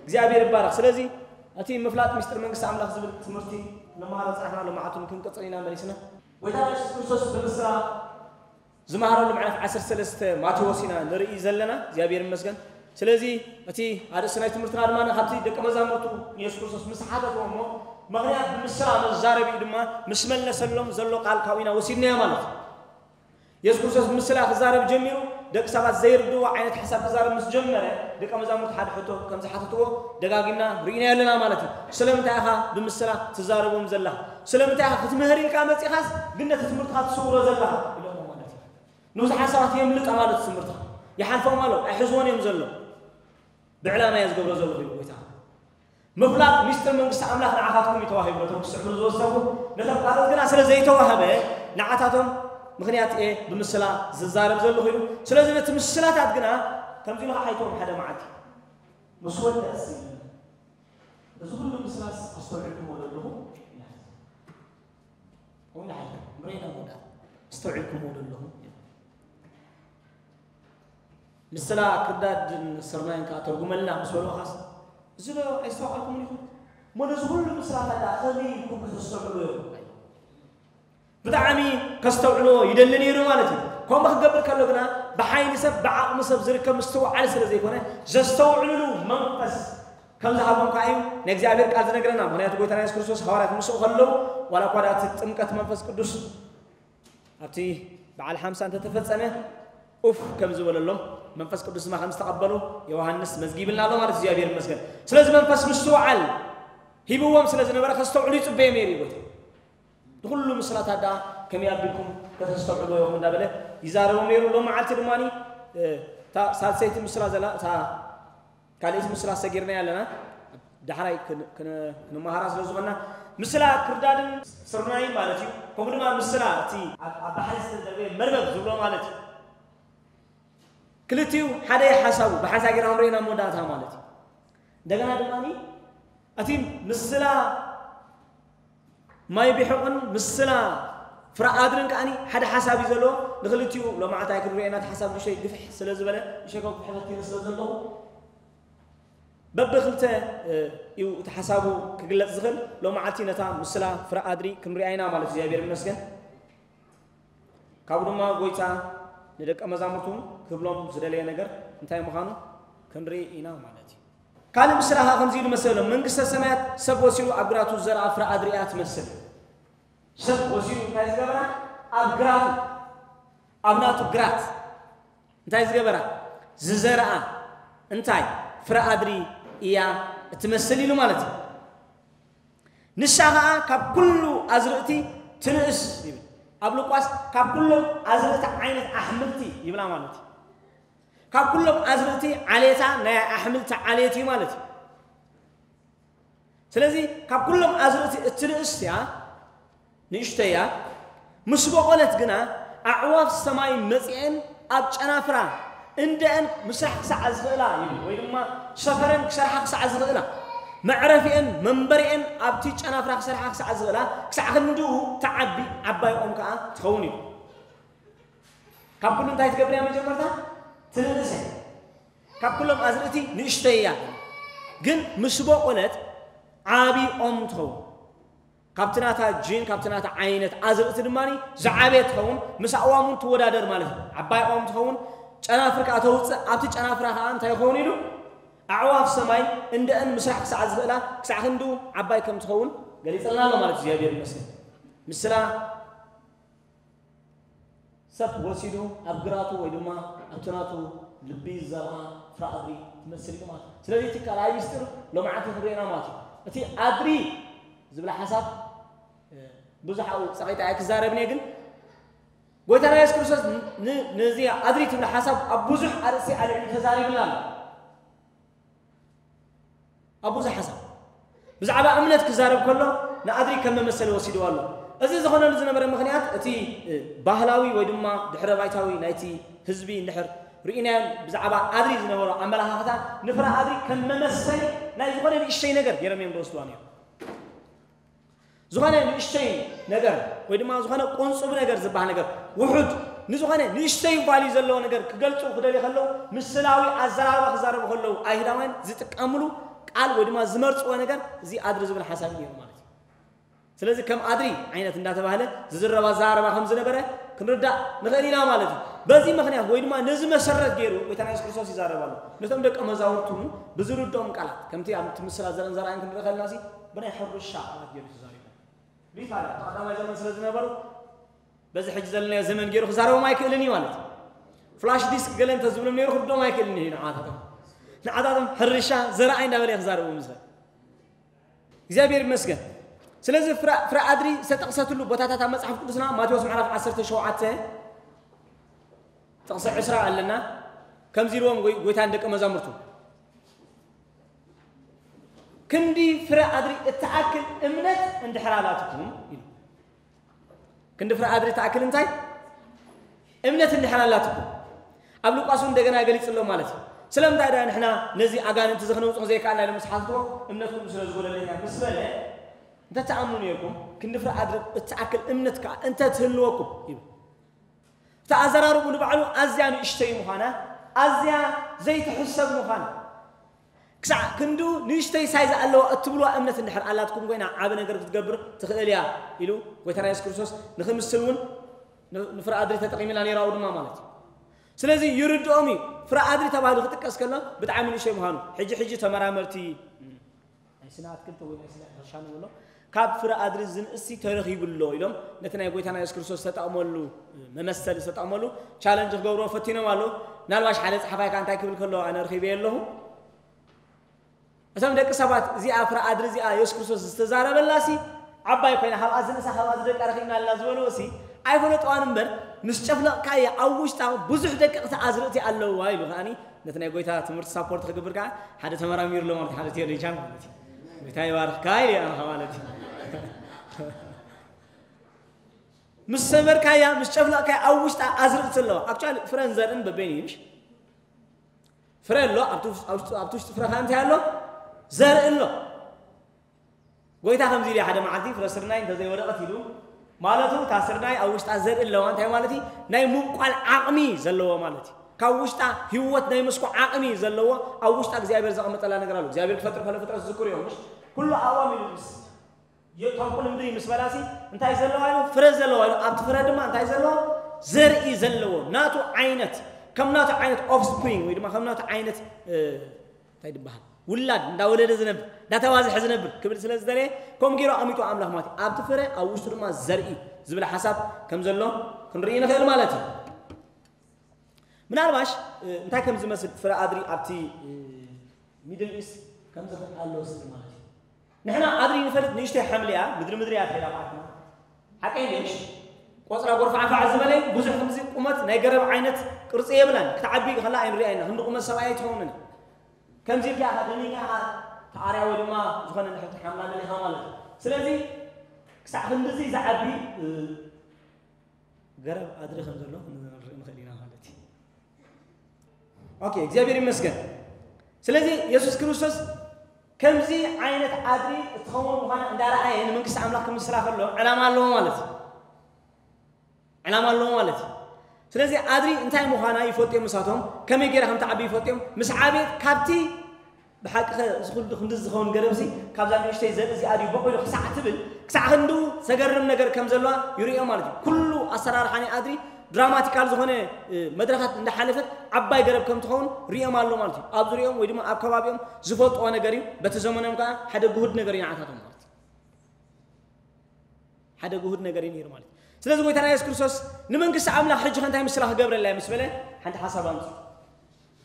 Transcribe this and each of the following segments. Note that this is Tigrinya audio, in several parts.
እግዚኣብሔር ይባረኽ። ስለዚ እቲ ምፍላጥ ምስጢር መንግስቲ ኣምላኽ ዝብል ትምህርቲ ንመሃሮ ፃሕና ሎማዓቱን ክንቅፅል ኢና መሊስና። ጎይታ የሱስ ክርስቶስ ብምስላ ዝመሃረሉ ምዕራፍ ዓሰርተ ሰለስተ ማቴዎስ ኢና ንርኢ ዘለና። እግዚኣብሔር ይመስገን። ስለዚ እቲ ኣርእስቲ ናይ ትምህርትና ድማ ካብቲ ደቂ መዛሙርቱ ንየሱስ ክርስቶስ ምስ ሓተትዎ እሞ ምኽንያት ብምስላ መዛረቢ ድማ ምስ መለሰሎም ዘሎ ቃል ካብኡ ኢና ወሲድናዮ ማለት እዩ። የሱስ ክርስቶስ ብምስላ ክዛረብ ጀሚሩ ደቂ ሰባት ዘይርድዎ ዓይነት ሓሳብ ክዛረብ ምስ ጀመረ ደቂ መዛሙርቱ ሓደ ሕቶ ከም ዝሓተትዎ ደጋጊምና ርኢና ኣለና ማለት እዩ። ስለምንታይ ኢኻ ብምስላ ትዛረቦም ዘለኻ? ስለምንታይ ኢኻ ክትምህር ኢልካ መፂኻስ ግን ነቲ ትምህርትኻ ትስውሮ ዘለኻ ኢሎሞ ማለት እዩ። ንብዙሓት ሰባት የምልጣ ማለት ትምህርትኻ ይሓልፎም ኣሎ ኣይሕዝዎን እዮም ዘሎ። ብዕላማ እየ ዝገብሮ ዘለኹ እዩ ጎይታ። ምፍላጥ ሚስጥር መንግስቲ ኣምላኽ ንዓኻትኩም እዩ ተዋሂቡ። ነቶም ክስዕቡ ዝወሰኑ ነቶም ካልኦት ግና ስለ ዘይተዋህበ ንዓታቶም ምኽንያት እየ ብምስላ ዝዛረብ ዘለኹ ኢሉ። ስለዚ ነቲ ምስላታት ግና ከምዚ ኢሉ ከዓ ኣይተዎም ሓደ መዓልቲ ምስ ወደእስ እዚ ኩሉ ምስላስ ኣስተውዒልኩምዎ ዶ ኣለኹም? ወይ ንሓደ ምሬና ወዳ ኣስተውዒልኩምዎ ዶ ኣለኹም? ምስላ ክርዳድን ስርናይን ከዓ ተርጉመልና ምስ በልዎ ኻስ እዚ ዶ ኣይስተውዓልኩምን ኢኹም? እሞ ነዚ ኩሉ ምስላታት ደኣ ከመይ ኢልኩም ከተስተውዕሉ እዮም? ብጣዕሚ ከስተውዕልዎ ይደሊ ነይሩ ማለት እዩ። ከምኡ ክገብር ከሎ ግና ብሓይሊ ሰብ ብዓቕሚ ሰብ ዝርከብ ምስትውዓል ስለ ዘይኮነ ዘስተውዕልሉ መንፈስ ከም ዝሃቦም ከዓ እዩ ናይ እግዚኣብሔር ቃል ዝነግረና። ምክንያቱ ጎይታና የሱስ ክርስቶስ ሃዋርያት ምስኡ ከለዉ ዋላ እኳ ደኣ እቲ ጥምቀት መንፈስ ቅዱስ ኣብቲ በዓል ሓምሳ እንተተፈጸመ ኡፍ ከም ዝበለሎም መንፈስ ቅዱስ ድማ ከም ዝተቐበሉ ዮሃንስ መዝጊብልና ኣሎ ማለት እግዚኣብሔር ይመስገን። ስለዚ መንፈስ ምስትውዓል ሂብዎም ስለ ዝነበረ ከስተውዕሉ ይጽበዮም ነይሩ እዩ ጎይታ። ንኹሉ ምስላታት ደኣ ከመይ ኣቢልኩም ከተስተውዕልዎ ኢኹም እንዳበለ ይዛረቦም ነይሩ። ሎም መዓልቲ ድማ እታ ሳልሰይቲ ምስላ ዘላ እታ ካልእቲ ምስላ ሰጊርና ኣለና ዳሕራይ ክን- ክን- ክንመሃራ ስለ ዝኾንና ምስላ ክርዳድን ስርናይን ማለት እዩ። ከምኡ ድማ ምስላ እቲ ኣብ ኣብ ባሕሪ ዝተደርበየ መርበብ ዝብሎ ማለት እዩ። ክልቲኡ ሓደ ሓሳቡ ብሓንሳ ጌርና ክንሪኦ ኢና መወዳእታ ማለት እዩ። እንደገና ድማ እቲ ምስላ ማይ ቢሑቕን ምስላ ፍረ ኣድርን ከዓኒ ሓደ ሓሳብ እዩ ዘለዎ። ንክልቲኡ ሎማዓንቲ ኣይክንሪኦ ኢና። እቲ ሓሳብ ንእሽተይ ግፍሕ ስለ ዝበለ ንእሽተይ ከም ክሕፈት ኢለ ስለ ዘለኹ በብክልተ እዩ እቲ ሓሳቡ ክግለፅ ዝኽእል። ሎማዓንቲ ነታ ምስላ ፍረ ኣድሪ ክንሪኣ ኢና ማለት እዩ። እግዚኣብሔር ይመስገን። ካብኡ ድማ ጎይታ ንደቀ መዛሙርቱ ክብሎም ዝደለየ ነገር እንታይ ምዃኑ ክንርኢ ኢና ማለት እዩ። ካልእ ምስላ ኸዓ ከምዚ ኢሉ መሰሎም። መንግስተ ሰማያት ሰብ ወሲዱ ኣብ ግራቱ ዝዘርኣ ፍረ ኣድሪ እያ ትመስል። ሰብ ወሲዱ እንታይ ዝገበራ? ኣብ ግራቱ፣ ኣብ ናቱ ግራት እንታይ ዝገበራ? ዝዘርኣ እንታይ? ፍረ ኣድሪ እያ እትመስል ኢሉ ማለት እዩ። ንሳ ኸዓ ካብ ኩሉ ኣዝርእቲ ትንእስ ይብል። ኣብ ሉቃስ ካብ ኩሎም ኣዝርእቲ ዓይነት ኣሕምልቲ ይብላ ማለት እዩ። ካብ ኩሎም ኣዝርእቲ ዓሌታ ናይ ኣሕምልቲ ዓሌት እዩ ማለት እዩ። ስለዚ ካብ ኩሎም ኣዝርእቲ እትንእስ እያ፣ ንእሽተይ እያ። ምስ በቖለት ግና ኣዕዋፍ ሰማይ መጺአን ኣብ ጨናፍራ እንደአን ምስራሕ ክሳዕ ዝኽእላ ይብል፣ ወይ ድማ ሰፈረን ክሰርሓ ክሳዕ ዝኽእላ፣ መዕረፊአን መንበሪአን ኣብቲ ጨናፍራ ክሰርሓ ክሳዕ ዝኽእላ፣ ክሳዕ ክንድኡ ትዓቢ ዓባይ ኦም ከኣ ትኸውን እዩ። ካብ ኩሉ እንታይ ትገብር እያ? መጀመርታ ትንእስ እያ። ካብ ኩሎም ኣዝርእቲ ንእሽተይ እያ፣ ግን ምስ በቖለት ዓቢ ኦም ትኸውን። ካብቲ ናታ ጂን ካብቲ ናታ ዓይነት ኣዝርእቲ ድማ ዝዓበየ ትኸውን። ምስ ኣእዋም እውን ትወዳደር ማለት እዩ። ዓባይ ኦም ትኸውን፣ ጨናፍር ከዓ ተውፅእ። ኣብቲ ጨናፍራ ከዓ እንታይ ይኸውን ኢሉ? ኣዕዋፍ ሰማይ እንደአን ምስራሕ ክሳዕ ዝኽእላ ክሳዕ ክንድኡ ዓባይ ከም ትኸውን ገሊፅልና ኣሎ ማለት እዩ። እግዚኣብሔር ይመስገን። ምስላ ሰብ ወሲዱ ኣብ ግራቱ ወይ ድማ ኣብቲ ናቱ ልቢ ዝዘርኣ ፍረ ኣድሪ ትመስል እዩ ማለት እዩ። ስለዚ እቲ ካልኣይ ምስጢር ሎማዓንቲ ክንሪኦ ኢና ማለት እዩ። እቲ ኣድሪ ዝብል ሓሳብ ብዙሕ ኣብኡ ፀቒጠ ኣይክዛረብን እየ፣ ግን ጎይታና የሱስ ክርስቶስ ን- ነዚ ኣድሪ ትብል ሓሳብ ኣብ ብዙሕ ኣርእስቲ ኣልዒሉ ተዛሪብና ኣሎ። ኣብ ብዙሕ ሓሳብ ብዛዕባ እምነት ክዛረብ ከሎ ንኣድሪ ከም መመሰሊ ወሲድዎ ኣሎ። እዚ ዝኾነሉ ዝነበረ ምኽንያት እቲ ባህላዊ ወይ ድማ ድሕረ ባይታዊ ናይቲ ህዝቢ እንድሕር ርኢናዮ ብዛዕባ ኣድሪ ዝነበሮ ኣመለኻኽታ ንፍረ ኣድሪ ከም መመሰሊ ናይ ዝኾነ ንእሽተይ ነገር ገይሮም እዮም ዝወስድዋ ነይሮም። ዝኾነ ንእሽተይ ነገር ወይ ድማ ዝኾነ ቁንፁብ ነገር ዝበሃል ነገር ውሑድ ንዝኾነ ንእሽተይ ቫልዩ ዘለዎ ነገር ክገልፁ ክደልዩ ከለዉ ምስላዊ ኣዘራርባ ክዛረቡ ከለዉ ኣይሁዳውያን ዝጥቀምሉ ቃል ወይ ድማ ዝመርፅዎ ነገር እዚ ኣድሪ ዝብል ሓሳብ እዩ ነይሩ ማለት እዩ። ስለዚ ከም ኣድሪ ዓይነት እንዳተባህለ ዝዝረብ ኣዘራርባ ከም ዝነበረ ክንርዳእ ንኽእል ኢና ማለት እዩ። በዚ ምኽንያት ወይ ድማ ነዚ መሰረት ገይሩ ጎይታና የሱስ ክርስቶስ ይዛረብ ኣሎ። ነቶም ደቀ መዛሙርቱ እውን ብዝርድኦም ቃላት፣ ከምቲ ኣብ እቲ ምስላ ዘርእን ዘርኣይን ክንርኢ ከለና ሲ ብናይ ሕርሻ ቃላት ገይሩ ተዛሪቡ። ሊታል ኣብ ቀዳማይ ዘመን ስለ ዝነበሩ በዚ ሕጂ ዘለናዮ ዘመን ገይሩ ክዛረቦም ኣይክእልን እዩ ማለት እዩ። ፍላሽ ዲስክ ገለ እንተዝብሎም ነይሩ ክርድኦም ኣይክእልን እዩ ንዓታቶም። ንዓታቶም ሕርሻ ዘርኣይ እንዳበለ እዩ ክዛረቦም ዝኽእል። እግዚኣብሔር ይመስገን። ስለዚ ፍረ ኣድሪ ዝተጠቕሰትሉ ቦታታት ኣብ መጽሓፍ ቅዱስና ማቴዎስ ምዕራፍ ዓሰርተ ሸውዓተ ጥቕሲ ዕስራ ኣለና። ከምዚ ኢልዎም ጎይታ ንደቀ መዛሙርቱ፣ ክንዲ ፍረ ኣድሪ እትኣክል እምነት እንድሕር ኣላትኩም ኢሉ። ክንዲ ፍረ ኣድሪ እትኣክል እንታይ እምነት እንድሕር ኣላትኩም። ኣብ ሉቃስ እውን እንደገና ገሊጽ ኣሎ ማለት እዩ። ስለምንታይ ደኣ ንሕና ነዚ ኣጋንንቲ እዚ ክነውጽኦ ዘይከኣልና ኢሎም ምስ ሓትትዎ፣ እምነትኩም ስለ ዝጎደለ እያ ምስ በለ፣ እንተትኣምኑ ነይርኩም፣ ክንዲ ፍረ ኣድሪ እትኣክል እምነት ከኣ እንተ ትህልወኩም ይብል። እቲ ኣዘራርቡ ንባዕሉ ኣዝያ ንእሽተይ ምዃና፣ ኣዝያ ዘይትሕሰብ ምዃና፣ ክሳዕ ክንዱ ንእሽተይ ሳይዝ ኣለዋ እትብልዋ እምነት እንድሕር ኣላትኩም ኮይና ዓቢ ነገር ክትገብር ትኽእል እያ ኢሉ ጎይታና የሱስ ክርስቶስ ንኽምስል እውን ንፍረ ኣድሪ ተጠቒምላ ነይራኡ ድማ ማለት እዩ። ስለዚ ይርድኦም እዩ። ፍረ ኣድሪ ተባሂሉ ክጥቀስ ከሎ ብጣዕሚ ንእሽተይ ምዃኑ። ሕጂ ሕጂ ተመራመርቲ ናይ ስነ ኣትክልቲ ወይ ናይ ስነ ሕርሻ ንብሎ ካብ ፍረ ኣድሪ ዝንእሲ ተረኺቡ ኣሎ ኢሎም ነቲ ናይ ጎይታና የሱስ ክርስቶስ ዝተጠቕመሉ መመሰሊ ዝተጠቕመሉ ቻለንጅ ክገብርዎ ፈቲኖም ኣለዉ። ምናልባሽ ሓደ ጸሓፋይ ከኣ እንታይ ክብል ከሎ ኣነ ረኺበዮ ኣለኹ። እቶም ደቂ ሰባት እዚኣ ፍረ ኣድሪ እዚኣ የሱስ ክርስቶስ ዝተዛረበላሲ ዓባይ ኮይና ካብኣ ዝንእሳ ካብኣ ዝደቃ ረኺብና ኣለና ዝበልዎ ሲ ኣይፈለጥዋን እምበር ምስ ጨፍለቕካያ ኣብ ውሽጣ ብዙሕ ደቀቕቲ ኣዝርእቲ ኣለውዋ ኢሉ ከኣኒ ነቲ ናይ ጎይታ ትምህርቲ ሳፖርት ክገብር ከዓ ሓደ ተመራሚሩ ኣሎ ማለት ሓደ ቴዎሎጂያን ማለት እዩ። ጎይታ ይባርኽካ ኢሉ ኣነ ማለት እዩ። ምስ ሰመርካያ ምስ ጨፍለቕካያ ኣብ ውሽጣ ኣዝርእቲ ኣለዋ። ኣክቹዋሊ ፍረን ዘርእን በበይኑ እዩ ምሽ ፍረ ኣሎ ኣብቲ ውሽጢ ፍረኻ እንታይ ኣሎ ዘርኢ ኣሎ። ጎይታ ከምዚ ኢሉ ሓደ መዓልቲ ፍረ ስርናይ እንተዘይወደቐት ኢሉ ማለቱ እታ ስርናይ ኣብ ውሽጣ ዘርኢ ኣለዋ እንታይ ማለት እዩ? ናይ ምብቋል ዓቕሚ ዘለዎ ማለት እዩ። ካብ ውሽጣ ህይወት ናይ ምስኮ ዓቕሚ ዘለዎ ኣብ ውሽጣ እግዚኣብሔር ዘቐመጠላ ነገር ኣሎ። እግዚኣብሔር ክፈጥር ከሎ ፍጥረት ዝዝክሩ እዮም ምሽ ኩሉ ኣዋም ኢሉ ምስ ተንቁል ምድሪ ምስ በላሲ እንታይ ዘለዋ ኢሉ ፍረ ዘለዋ ኢሉ ኣብቲ ፍረ ድማ እንታይ ዘለዎ ዘርኢ ዘለዎ ናቱ ዓይነት ከም ናቱ ዓይነት ኦፍስፕሪንግ ወይ ድማ ከም ናቱ ዓይነት እንታይ ድበሃል ውላድ እንዳወለደ ዝነብር እንዳተባዝሐ ዝነብር ክብል ስለ ዝደለየ ከምኡ ገይሩ ኣሚጡ ኣምላኽ ማለት እዩ። ኣብቲ ፍረ ኣብ ውሽጡ ድማ ዘርኢ ዝብል ሓሳብ ከም ዘሎ ክንርኢ ንኽእል ማለት እዩ። ምናልባሽ እንታይ ከም ዝመስል ፍረ ኣድሪ ኣብቲ ሚድል ኢስት ከም ዝኽእል ኣለዎ ስል ማለት እዩ። ንሕና ኣድሪ ንፈልጥ ንእሽተይ ሓምሊ እያ ምድሪ ምድሪ እያ ትሄዳ ማለትና ሓቀይ ሌሽ ቆፅራ ጎርፋዕፋዕ ዝበለ ብዙሕ ከምዚ ቁመት ናይ ገረብ ዓይነት ቅርፂ የብላን ክትዓቢ ከላ ኣይንሪኣ ኢና ክንዲ ቁመት ሰብኣይ ኣይትኸውንን ከምዚ ኢልካ ኢኻ ደኒካ ኢኻ ተኣርያ ወይ ድማ ዝኾነ ንሕቲ ሓምላ ደሊኻ ማለት እዩ። ስለዚ ክሳዕ ክንድዚ ዝዓቢ ገረብ ኣድሪ ከም ዘሎ ክንርኢ ንኽእል ኢና ማለት እዩ። ኦኬ እግዚኣብሔር ይመስገን። ስለዚ የሱስ ክርስቶስ ከምዚ ዓይነት ኣድሪ እትኸውን ምዃና እንዳረኣየ ንመንግስቲ ኣምላኽ ክምስላ ከሎ ዕላማ ኣለዎ ማለት እዩ። ዕላማ ኣለዎ ማለት እዩ። ስለዚ ኣድሪ እንታይ ምዃና ይፈልጡ እዮም። ንሳቶም ከመይ ገይራ ከም ትዓቢ ይፈልጡ እዮም። ምስ ዓብየት ካብቲ ብሓቂ እዚ ኩሉ ክንዲ ዝኸውን ገረብሲ ካብዛ ንእሽተይ ዘርኢ እዚኣ ድዩ በቑሉ ክሳዕ ትብል ክሳዕ ክንድኡ ዘገርም ነገር ከም ዘለዋ ይርእዮ ማለት እዩ። ኩሉ ኣሰራርሓ ናይ ኣድሪ ድራማቲካል ዝኾነ መድረኻት እንዳሓለፈት ዓባይ ገረብ ከም ትኸውን ርእዮም ኣሎ ማለት እዩ። ኣብ ዙሪኦም ወይ ድማ ኣብ ከባቢኦም ዝፈልጥዎ ነገር እዩ። በቲ ዘመኖም ከዓ ሓደ ግሁድ ነገር እዩ ንዓታቶም ማለት እዩ። ሓደ ግሁድ ነገር እዩ ነይሩ ማለት እዩ። ስለዚ ጎይታና የሱስ ክርስቶስ ንመንግስቲ ኣምላኽ ሕጂ ከ እንታይ ምስላ ክገብረላ እዩ ምስ በለ ሓንቲ ሓሳብ ኣምፅኡ።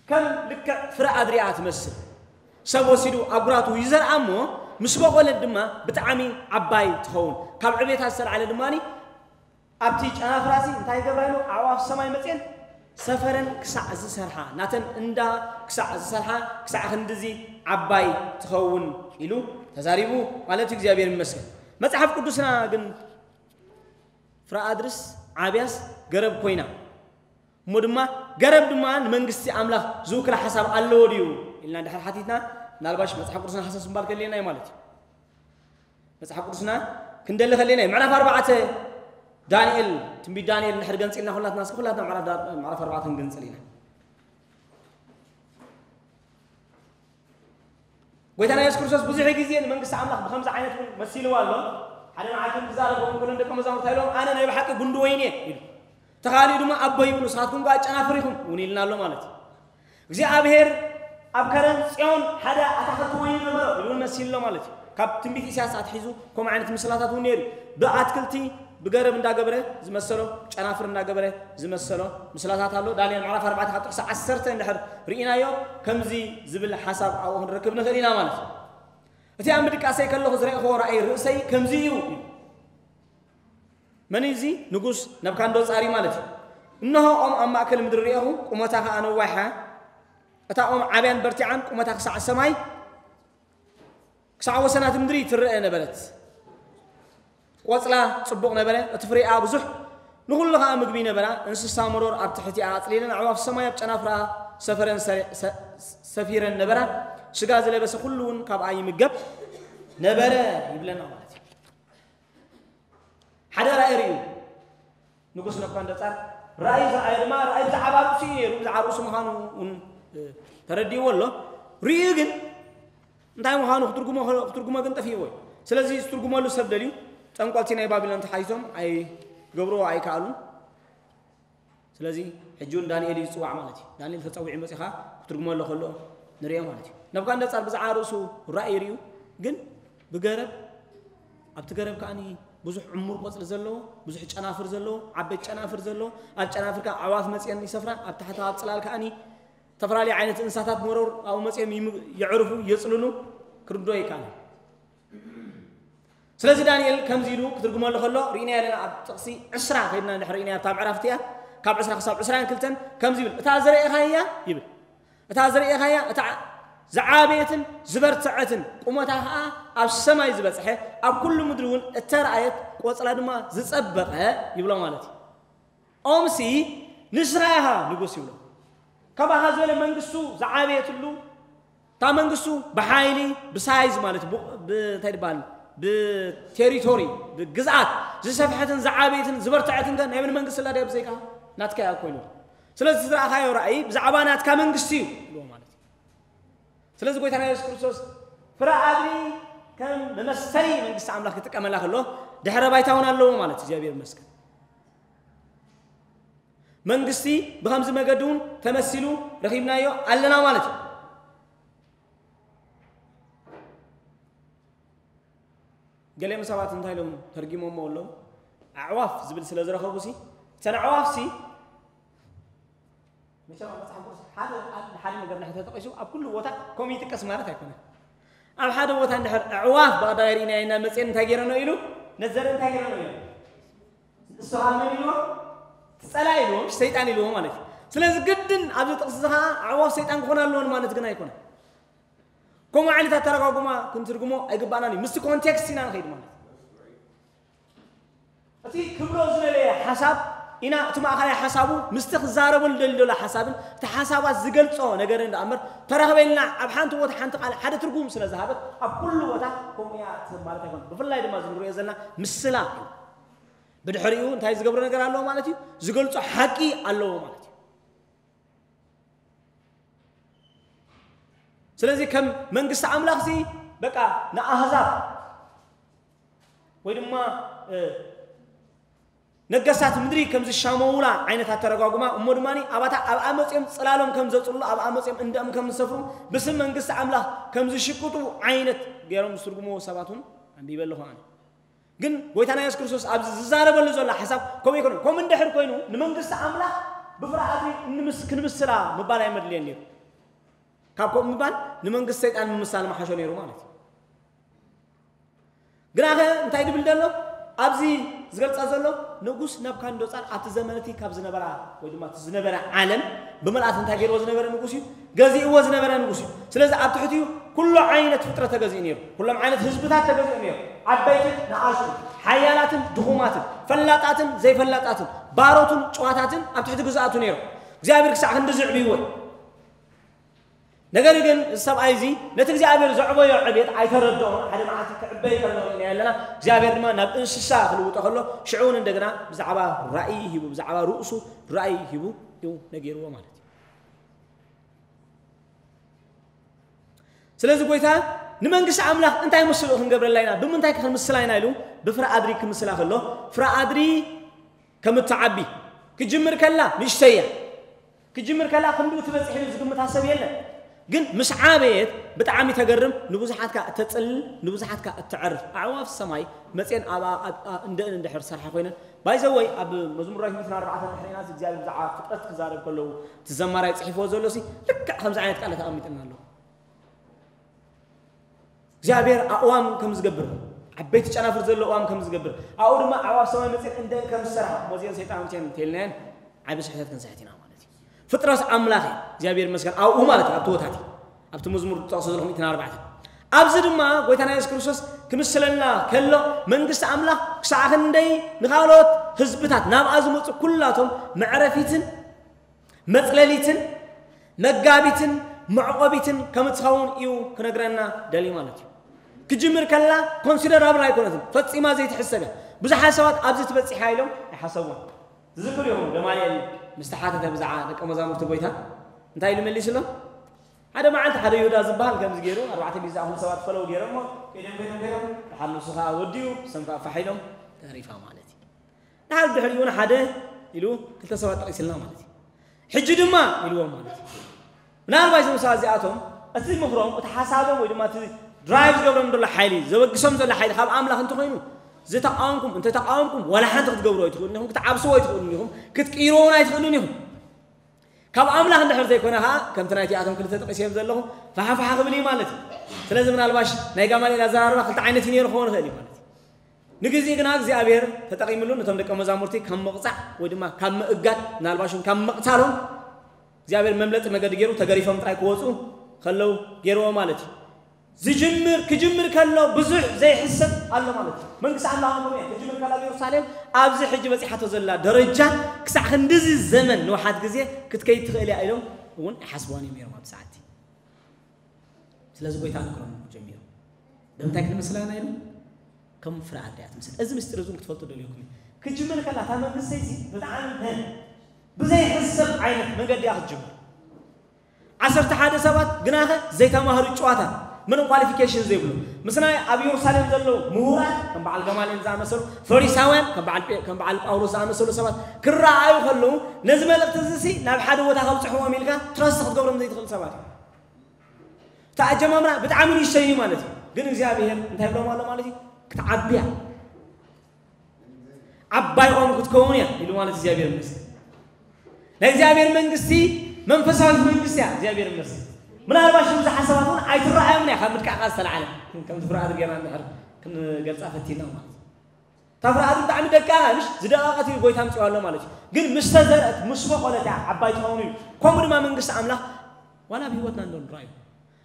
ከም ልክዕ ፍረ ኣድሪኣ ትመስል ሰብ ወሲዱ ኣጉራቱ ይዘርኣ እሞ ምስ በቆለት ድማ ብጣዕሚ ዓባይ ትኸውን ካብ ዕቤታ ዝተልዓለ ድማ ኣብቲ ጨናፍራሲ እንታይ ይገብራ ኢሉ ኣዕዋፍ ሰማይ መፅኤን ሰፈረን ክሳዕ ዝሰርሓ ናተን እንዳ ክሳዕ ዝሰርሓ ክሳዕ ክንድዚ ዓባይ ትኸውን ኢሉ ተዛሪቡ ማለት እዩ እግዚኣብሔር ይመስገን። መፅሓፍ ቅዱስና ግን ፍረ ኣድርስ ዓብያስ ገረብ ኮይና እሞ ድማ ገረብ ድማ ንመንግስቲ ኣምላኽ ዝውክላ ሓሳብ ኣለዎ ድዩ ኢልና ድሕር ሓቲትና ምናልባሽ መፅሓፍ ቅዱስና ሓሳብ ስምባል ከልየና እዩ ማለት እዩ። መፅሓፍ ቅዱስና ክንደሊ ከልየና እዩ ምዕራፍ ኣርባዕተ ዳንኤል ትንቢት ዳንኤል እንድሕር ገንፂልና ኩላትና እስኪ ኩላትና ምዕራፍ ኣርባዕተ ክንገንፅል ኢና። ጎይታና የሱስ ክርስቶስ ብዙሕ ግዜ ንመንግስቲ ኣምላኽ ብኸምዚ ዓይነት እውን መሲልዋ ኣሎ። ሓደ መዓልቲ ክዛረቦም ከሎ ንደቀ መዛሙርቱ ኢሎም፣ ኣነ ናይ ብሓቂ ጉንዲ ወይኒ እየ ኢሉ። ተኻሊኡ ድማ ኣቦ ይብሉ፣ ንስኻትኩም ከኣ ጨናፍር ኢኹም እውን ኢልና ኣሎ ማለት እዩ። እግዚኣብሔር ኣብ ከረን ጽዮን ሓደ ኣታኽልቲ ወይኒ ነበረ ኢሉ እውን መሲሉ ኣሎ ማለት እዩ። ካብ ትንቢት ኢሳያስ ኣትሒዙ ከምኡ ዓይነት ምስላታት እውን ነይሩ። ብኣትክልቲ ብገረብ እንዳገበረ ዝመሰሎ፣ ጨናፍር እንዳገበረ ዝመሰሎ ምስላታት ኣሎ። ዳንኤል ምዕራፍ ኣርባዕተ ካብ ጥቕሲ ዓሰርተ እንድሕር ርኢናዮ፣ ከምዚ ዝብል ሓሳብ ኣብኡ ክንረክብ ንኽእል ኢና ማለት እዩ። እቲ ኣብ ምድቃሰይ ከለኹ ዝረእኽዎ ራእይ ርእሰይ ከምዚ እዩ። መን እዩ እዚ? ንጉስ ነብካንዶጻር እዩ ማለት እዩ። እንሆ ኦም ኣብ ማእከል ምድሪ ርኤኹ፣ ቁመታ ኸኣ ነዋሕያ። እታ ኦም ዓብያን በርቲዓን፣ ቁመታ ክሳዕ ሰማይ፣ ክሳዕ ወሰናት ምድሪ ትረአ ነበረት። ቆጽላ ጽቡቕ ነበረ፣ እቲ ፍሬኣ ብዙሕ፣ ንኹሉ ኸኣ ምግቢ ነበራ። እንስሳ መሮር ኣብ ትሕቲኣ ኣጽሊለን፣ ኣዕዋፍ ሰማይ ኣብ ጨናፍራ ሰፈረን ሰሪ-፣ ሰ-፣ ሰፊረን ነበራ። ስጋ ዝለበሰ ኩሉ እውን ካብኣ ይምገብ ነበረ ይብለና ማለት እዩ። ሓደ ራእይ ርእዩ ንጉስ ነብካንደጻር። ራእይ ዝረኣየ ድማ ራእይ ብዛዕባ ርእሱ እዩ ነይሩ። ብዛዕባ ርእሱ ምዃኑ እውን፣ እ፣ ተረዲእዎ ኣሎ። ርእዩ ግን እንታይ ምዃኑ ክትርጉሞ፣ ክትርጉሞ ግን ጠፊእዎ እዩ። ስለዚ ዝትርጉመሉ ሰብ ደልዩ፣ ጠንቆልቲ ናይ ባቢሎን ተሓይዞም ኣይገብርዎ ኣይከኣሉን። ስለዚ ሕጂ እውን ዳንኤል እዩ ዝጽዋዕ ማለት እዩ። ዳንኤል ተጸዊዑ መጺኻ ክትርጉመሉ ከሎ ንርእዮ ማለት እዩ። ነብካንደጻር ብዛዕባ ርእሱ ራእይ ርእዩ፣ ግን ብገረብ፣ ኣብቲ ገረብ ከኣ ብዙሕ ዕሙር ቆጽሊ ዘለዎ፣ ብዙሕ ጨናፍር ዘለዎ፣ ዓበይቲ ጨናፍር ዘለዎ፣ ኣብ ጨናፍር ከኣ ኣዕዋፍ መጺአን ይሰፍራ፣ ኣብ ታሕቲ ኣብ ጽላል ከኣ ዝተፈላለዩ ዓይነት እንስሳታት መሮር ኣብኡ መጺኦም ይም-፣ የዕርፉ፣ የጽልሉ፣ ክርዶ ይከኣል። ስለዚ ዳንኤል ከምዚ ኢሉ ክትርጉመሉ ከሎ ርኢና ኣለና። ኣብ ጥቕሲ ዕስራ ከይድና እንድሕር ርኢና ኣብታ ምዕራፍ እቲኣ ካብ ዕስራ ክሳብ ዕስራን ክልተን ከምዚ ይብል፣ "እታ ዝረኤኻያ" ይብል፣ "እታ ዝረኤኻያ እታ ዝዓበየትን ዝበርትዐትን ቁመታ ኸኣ ኣብ ሰማይ ዝበጽሐ ኣብ ኩሉ ምድሪ እውን እተረኣየት ቆጽላ ድማ ዝጸበቐ" ይብሎ ማለት እዩ። ኦምሲ ንስኻ ኢኻ ንጉስ ይብሎ። ካባኻ ዝበለ መንግስቱ ዝዓበየትሉ፣ እታ መንግስቱ ብሓይሊ፣ ብሳይዝ ማለት ብ-፣ ብ-፣ እንታይ ይበሃል፣ ብቴሪቶሪ፣ ብግዝኣት ዝሰፍሐትን ዝዓበየትን ዝበርትዐትን ከ ናይ መን መንግስቲ ኣላ ድያ ብዘይካ ናትካ እያ ኮይኑ። ስለዚ ዝረኣኻዮ ራእይ ብዛዕባ ናትካ መንግስቲ እዩ ይብሎ ማለት እዩ። ስለዚ ጎይታና የሱስ ክርስቶስ ፍረ ኣድሪ ከም መመሰሊ መንግስቲ ኣምላኽ ክጥቀመላ ከሎ ድሕረ ባይታ እውን ኣለዎ ማለት እዩ። እግዚኣብሔር ይመስገን። መንግስቲ ብኸምዚ መገዲ እውን ተመሲሉ ረኺብናዮ ኣለና ማለት እዩ። ገሊኦም ሰባት እንታይ ኢሎም ተርጊሞሞ ኣለዉ? ኣዕዋፍ ዝብል ስለ ዝረኸቡ ሲ፣ እተን ኣዕዋፍ ሲ፣ መቸም ኣብ መጽሓፍ ቅዱስ ሓደ ቃል ንሓደ ነገር እንድሕር ተጠቒሱ ኣብ ኩሉ ቦታ ከምኡ ይጥቀስ ማለት ኣይኮነን። ኣብ ሓደ ቦታ እንድሕር ኣዕዋፍ ብቐዳማይ ርኢናዮ ኢና መጽኤን እንታይ ገይረኖ ኢሉ፣ ነቲ ዘርኢ እንታይ ገይረኖ ኢሉ? ንሱ ኸኣ መን ኢልዎ? እቲ ጸላኢ ኢልዎ፣ ምሽ ሰይጣን ኢልዎ ማለት እዩ። ስለዚ ግድን ኣብዚ ጥቕሲ እዚ ኸኣ ኣዕዋፍ ሰይጣን ክኾና ኣለወን ማለት ግን ኣይኮነን። ከምኡ ዓይነት ኣተረጓጉማ ክንትርጉሞ ኣይግባእናን እዩ። ምስቲ ኮንቴክስት ኢና ንኸይድ ማለት እዩ። እቲ ክብሎ ዝደለየ ሓሳብ ኢና፣ እቲ ማእኸላይ ሓሳቡ ምስቲ ክዛረበሉ ደልዩ ዘሎ ሓሳብን እቲ ሓሳባት ዝገልጾ ነገርን ደኣ እምበር ተራኽበ ኢልና ኣብ ሓንቲ ቦታ ሓንቲ ቃል ሓደ ትርጉም ስለ ዝሃበት ኣብ ኩሉ ቦታ ከምኡ እያ ትህብ ማለት ኣይኮነን። ብፍላይ ድማ እዚ ንሪኦ ዘለና ምስላ እዩ። ብድሕሪኡ እንታይ ዝገብሮ ነገር ኣለዎ ማለት እዩ? ዝገልጾ ሓቂ ኣለዎ ማለት እዩ። ስለዚ ከም መንግስቲ ኣምላኽ ሲ በቃ ንኣህዛብ ወይ ድማ፣ እ፣ ነገስታት ምድሪ ከም ዝሻመዉላ ዓይነት ኣተረጓጉማ፣ እሞ ድማ ኣብኣ፣ ኣብኣ መጺኦም ጽላሎም ከም ዘጽልሉ፣ ኣብኣ መጺኦም እንደኦም ከም ዝሰፍሩ፣ ብስም መንግስቲ ኣምላኽ ከም ዝሽቅጡ ዓይነት ገይሮም ዝትርጉምዎ ሰባት እውን ኣንቢበ ኣለኹ ኣነ። ግን ጎይታና የሱስ ክርስቶስ ኣብዚ ዝዛረበሉ ዘሎ ሓሳብ ከምኡ ኣይኮነን። ከምኡ እንድሕር ኮይኑ ንመንግስቲ ኣምላኽ ብፍርሃት ክንምስ-፣ ክንምስላ ምባል ኣይመድልየን ነይሩ። ካብ ከምኡ ምባል ንመንግስቲ ሰይጣን ምምሳል ምሓሾ ነይሩ ማለት እዩ። ግናኸ እንታይ ድብል ዘሎ? ኣብዚ ዝገልጻ ዘሎ ንጉስ ነብካንዶጻር ኣብቲ ዘመን እቲ ካብ ዝነበራ ወይ ድማ እቲ ዝነበረ ዓለም ብምልኣት እንታይ ገይርዎ ዝነበረ ንጉስ እዩ? ገዚእዎ ዝነበረ ንጉስ እዩ። ስለዚ ኣብ ትሕቲኡ ኩሉ ዓይነት ፍጥረት ተገዚኡ ነይሩ። ኩሎም ዓይነት ህዝብታት ተገዚኡ ነይሩ። ዓበይትን ንኣሽቱን፣ ሓያላትን ድኹማትን፣ ፈላጣትን ዘይፈላጣትን፣ ባሮትን ጭዋታትን ኣብ ትሕቲ ግዝኣቱ ነይሩ። እግዚኣብሔር ክሳዕ ክንዲ ዝዕብይዎ እዩ። ነገር ግን እዚ ሰብኣይ እዚ ነቲ እግዚኣብሔር ዘዕበዮ ዕቤት ኣይተረድኦን። ሓደ መዓልቲ ክዕበይ ከሎ ኢና ኣለና። እግዚኣብሔር ድማ ናብ እንስሳ ክልውጦ ከሎ ሽዑ እውን እንደገና ብዛዕባ ራእይ ሂቡ፣ ብዛዕባ ርእሱ ራእይ ሂቡ እዩ ነጊርዎ ማለት እዩ። ስለዚ ጎይታ ንመንግስቲ ኣምላኽ እንታይ ምስሉ ክንገብረላ ኢና? ብምንታይ ክንምስላ ኢና? ኢሉ ብፍረ ኣድሪ ክምስላ ከሎ፣ ፍረ ኣድሪ ከም እትዓቢ ክጅምር ከላ ንእሽተይ እያ። ክጅምር ከላ ክንድኡ ትበጽሕ ኢሉ ዝግምታ ሰብ የለን። ግን ምስ ዓበየት ብጣዕሚ ተገርም፣ ንብዙሓት ከኣ እተጽልል፣ ንብዙሓት ከኣ እተዕርፍ። ኣዕዋፍ ሰማይ መጽየን ኣብ፣ ኣብ፣ ኣብ እንደን እንድሕር ሰርሓ ኮይነን። ባይዘወይ ኣብ መዝሙር ዳዊት ሚእትን ኣርባዕተን ድሕሪና እግዚኣብሔር ብዛዕባ ፍጥረት ክዛረብ ከለዉ እቲ ዘማራይ ጽሒፍዎ ዘሎ ሲ ልክዕ ከምዚ ዓይነት ቃላት ኣቐሚጥልና ኣለዉ። እግዚኣብሔር ኣእዋም ከም ዝገብር፣ ዓበይቲ ጨናፍር ዘለዎ እዋም ከም ዝገብር፣ ኣብኡ ድማ ኣዕዋፍ ሰማይ መጽየን እንደን ከም ዝሰርሓ፣ እሞ እዚአን ሰይጣን መጽየን እንተኢልናየን ዓቢ ስሕተት ክንስሕት ኢና ማለት እዩ። ፍጥረት ኣምላኽ እዩ እግዚኣብሔር ይመስገን ኣብኡ ማለት እዩ፣ ኣብቲ ወታት እዩ። ኣብቲ መዝሙር ዝጠቕሶ ዘለኹ ሚእትን ኣርባዕተን። ኣብዚ ድማ ጎይታና የሱስ ክርስቶስ ክምስለና ከሎ መንግስቲ ኣምላኽ ክሳዕ ክንደይ ንኻልኦት ህዝብታት ናብኣ ዝመጹ ኩላቶም መዕረፊትን መጽለሊትን መጋቢትን መዕቆቢትን ከም እትኸውን እዩ ክነግረና ደልዩ ማለት እዩ። ክጅምር ከላ ኮንሲደራብል ኣይኮነትን፣ ፈጺማ ዘይትሕሰብ እያ። ብዙሓት ሰባት ኣብዚ ትበጽሕ እያ ኢሎም ኣይሓሰቡን። ትዝክሩ ኢኹም ገማልኤል ምስ ተሓተተ ብዛዕባ ደቀ መዛሙርቲ ጎይታ እንታይ ኢሉ መሊስሎም? ሓደ መዓልቲ ሓደ ይሁዳ ዝበሃል ከምዚ ገይሩ ኣርባዕተ ሚእቲ ዝኣኽሉ ሰባት ፈለው ገይሮሞ ከይዶም ከይዶም ከይዶም ድሓር ንሱ ኸዓ ወዲኡ ሰም ከዓ ፋሕ ኢሎም ተሪፋ ማለት እዩ። ድሓር ድሕሪኡ እውን ሓደ ኢሉ ክልተ ሰባት ጠቒስልና ማለት እዩ። ሕጂ ድማ ኢልዎም ማለት እዩ። ምናልባት እዞም ሰባት እዚኣቶም እቲ ምኽሮም፣ እቲ ሓሳቦም ወይ ድማ እቲ ድራይቭ ዝገብሮም ዘሎ ሓይሊ፣ ዘበግሶም ዘሎ ሓይሊ ካብ ኣምላኽ እንተኾይኑ ዝተቃወምኩም፣ እንተተቃወምኩም ዋላ ሓንቲ ክትገብሩ ኣይትኽእሉን ኢኹም፣ ክትዓብስዎ ኣይትኽእሉን ኢኹም፣ ክትቅይርዎ እውን ኣይትኽእሉን ኢኹም። ካብ ኣምላኽ እንድሕር ዘይኮነ ኸዓ ከምቲ ናይቲኣቶም ክልተ ጠቒሰዮም ዘለኹ ፋሓፋሓ ክብል እዩ ማለት እዩ። ስለዚ ምናልባሽ ናይ ጋማልኤል ኣዘራርባ ክልተ ዓይነት እዩ ነይሩ ክኸውን ይኽእል እዩ ማለት እዩ። ንግዜ ግና እግዚኣብሔር ተጠቒምሉ ነቶም ደቀ መዛሙርቲ ካብ ምቕጻዕ ወይ ድማ ካብ ምእጋድ ምናልባሽ እውን ካብ ምቕታሎም እግዚኣብሔር መምለጢ መገዲ ገይሩ ተገሪፎም ጥራይ ክወፁ ከለዉ ገይርዎ ማለት እዩ። ዝጅምር ክጅምር ከሎ ብዙሕ ዘይሕሰብ ኣሎ ማለት እዩ። መንግስቲ ኣምላኽ ከምኡ እያ። ክጅምር ከላ ኣብ ኢየሩሳሌም ኣብዚ ሕጂ በጺሓቶ ዘላ ደረጃ ክሳዕ ክንድዚ ዘመን ንውሓት ግዜ ክትከይድ ትኽእል እያ ኢሎም እውን ኣይሓስብዋን እዮም ነይሮም ኣብ ሰዓቲ። ስለዚ ጎይታ ንክሮም ጀሚሩ ብምንታይ ክንምስላ ኢና ኢሉ ከም ፍረ ኣድሪ እያ ትምስል። እዚ ምስጢር እዚ እውን ክትፈልጡ ደልየኩም እዩ። ክጅምር ከላ እታ መንግስተይ እዚ ብጣዕሚ ብዘይሕሰብ ዓይነት መንገዲ እያ ክትጅምር። ዓሰርተ ሓደ ሰባት ግናኸ ዘይተማህሩ ጭዋታት ምንም ኳሊፊኬሽን ዘይብሉ ምስ ናይ ኣብ ኢየሩሳሌም ዘለዉ ምሁራት ከም በዓል ገማልኤል ዝኣመሰሉ ፈሪሳውያን ከም በዓል ጴ- ከም በዓል ጳውሎስ ዝኣመሰሉ ሰባት ክረኣዩ ከለዉ ነዚ መልእክቲ እዚ ሲ ናብ ሓደ ቦታ ከብፅሕዎም ኢልካ ትረስት ክትገብሮም ዘይትኽእል ሰባት እዩ። እቲ ኣጀማምራ ብጣዕሚ ንእሽተይ እዩ ማለት እዩ። ግን እግዚኣብሔር እንታይ ይብሎም ኣሎ ማለት እዩ? ክትዓብያ ዓባይ ኦም ክትከውን እያ ኢሉ ማለት እግዚኣብሔር ይመስገን። ናይ እግዚኣብሔር መንግስቲ መንፈሳዊት መንግስቲ እያ እግዚኣብሔር ይመስገን። ምናልባሽ ብዙሓት ሰባት እውን ኣይትረኣዮም እያ ካብ ምድቃቓ ዝተላዓለ ከም ዝፍርኣት ጌርና እንድሕር ክንገልፃ ፈቲና ማለት እዩ። እታ ፍርኣት ብጣዕሚ ደቃቃ ምሽ ዝደቃቀት እዩ ጎይታ ምፅዋ ኣሎ ማለት እዩ። ግን ምስ ተዘርአት ምስ በቆለት እያ ዓባይ ትኸውን እዩ። ከምኡ ድማ መንግስቲ ኣምላኽ ዋላ ኣብ ህይወትና እንዶ ንረኣዩ